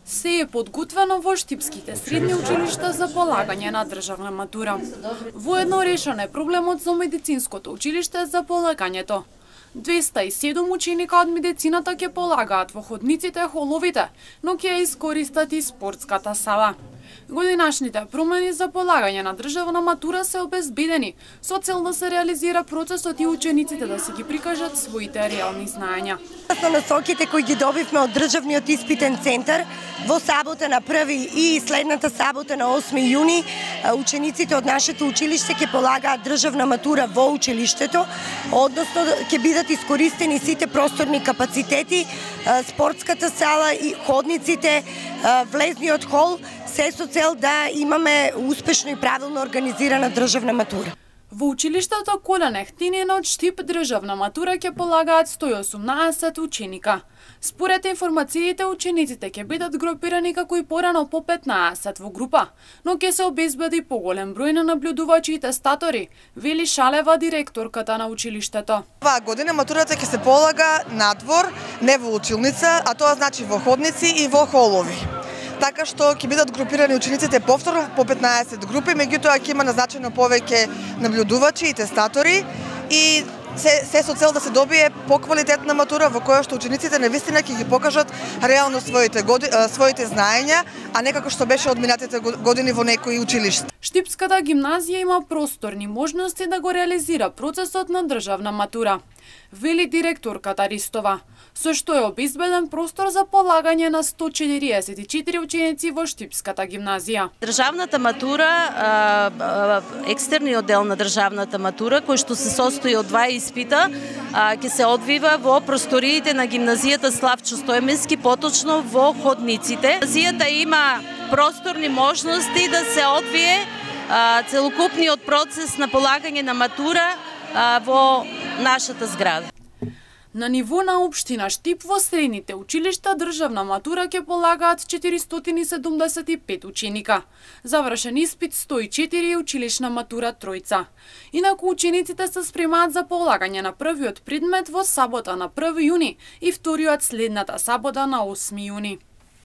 Се е подготвено во штипските средни училишта за полагање на државна матура. Воедно решен е проблемот за медицинското училиште за полагањето. 207 ученика од медицината ќе полагаат во ходниците, холовите, но ќе ја искористат и спортската сала. Годинашните промени за полагање на државна матура се обезбедени, со цел да се реализира процесот и учениците да се ги прикажат своите реални знаења. Со насоките кои ги добивме од државниот испитен центар, во сабота на 1 и следната сабота на 8 јуни, учениците од нашето училиште ќе полагаат државна матура во училиштето, односно ќе бидат искористени сите просторни капацитети, спортската сала и ходниците, влезниот хол, се со цел да имаме успешно и правилно организирана државна матура. Во училиштето Колен Ехтинин од Штип државна матура ќе полагаат 118 ученика. Според информациите, учениците ќе бидат групирани како и порано по 15 во група, но ќе се обезбеди поголем број на наблюдувачи и тестатори, вели Шалева, директорката на училиштето. Оваа година матурата ќе се полага надвор, не во училница, а тоа значи во ходници и во холови. Така што ќе бидат групирани учениците повторно по 15 групи, меѓутоа ќе има назначено повеќе наблюдувачи и тестатори и се со цел да се добие поквалитетна матура во која што учениците навистина ќе ги покажат реално своите знаења, а не како што беше од минатите години во некои училишта. Штипската гимназија има просторни можности да го реализира процесот на државна матура, вели директорката Ристова, со што е обезбеден простор за полагање на 144 ученици во Штипската гимназија. Државната матура, екстерниот дел на државната матура, кој што се состои од два испита, ќе се одвива во просториите на гимназијата Славчо Стојменски, поточно во ходниците. Гимназијата има просторни можности да се одвие целокупниот процес на полагање на матура во нашата зграда. На ниво на општина Штип во средните училишта државна матура ќе полагаат 475 ученика. Завршен испит 104 и училишна матура тројца. Инаку учениците се спремаат за полагање на првиот предмет во сабота на 1 јуни и вториот следната сабота на 8 јуни.